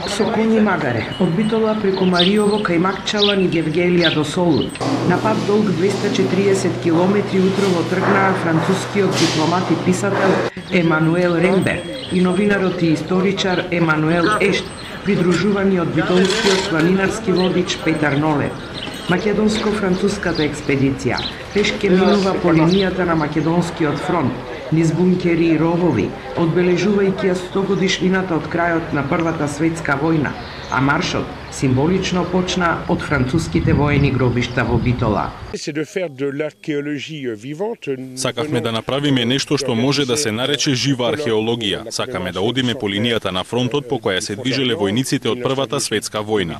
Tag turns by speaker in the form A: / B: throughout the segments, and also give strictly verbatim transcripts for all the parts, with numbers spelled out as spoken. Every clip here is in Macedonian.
A: Со коњи магаре, од Битола преку Мариово кај Макчалан и Гевгелија до Солун. На пат долг двеста четириесет километри утрово тргнаа францускиот дипломат и писател Емануел Рембер и новинарот и историчар Емануел Ешт, придружувани од битолскиот планинарски водич Петар Нолев. Македонско-француската експедиција пешке минува по линијата на Македонскиот фронт, низ бункери и ровови, одбележувајќи ја сто годишнината од крајот на Првата светска војна, а маршот символично почна од француските воени гробишта во Битола.
B: Сакавме да направиме нешто што може да се нарече жива археологија. Сакаме да одиме по линијата на фронтот по која се движеле војниците од Првата светска војна.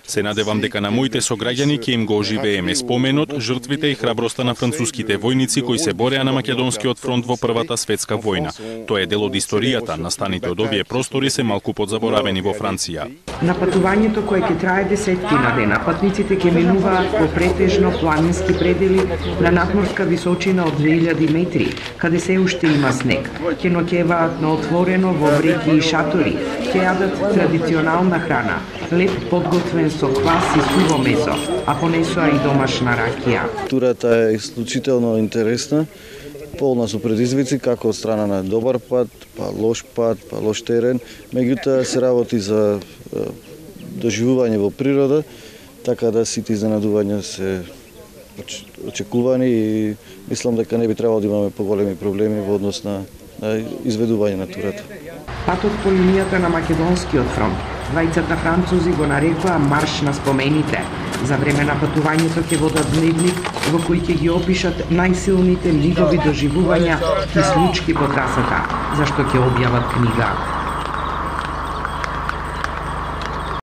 B: Се надевам дека на моите сограѓани ќе им го оживееме споменот, жртвите и храброста на француските војници кои се бореа на Македонскиот фронт во Првата светска војна. Тоа е дел од историјата, настаните од овие простори се малку подзаборавени во Франција.
A: На патувањето кое ќе трае десетки на дена, патниците ќе минуваат по претежно планински предели на надморска височина од две илјади метри, каде се уште има снег. Ќе ноќеваат на отворено во бреки и шатори, ќе јадат традиционална храна, леп подготвен со квас и суво месо, а понесоа и домашна ракија.
C: Турата е исклучително интересна, полна со предизвици како од страна на добар пат, па лош пат, па лош терен, меѓутоа се работи за доживување во природа, така да сите изненадувања се очекувани и мислам дека не би требало да имаме поголеми проблеми во однос на, на изведување на турата.
A: Патот по линијата на Македонскиот фронт, двајцата французи го нарекоа марш на спомените. За време на патувањето ќе водат дневник во кој ќе ги опишат најсилните лигови доживувања и случки по трасата, зашто ќе објават книга.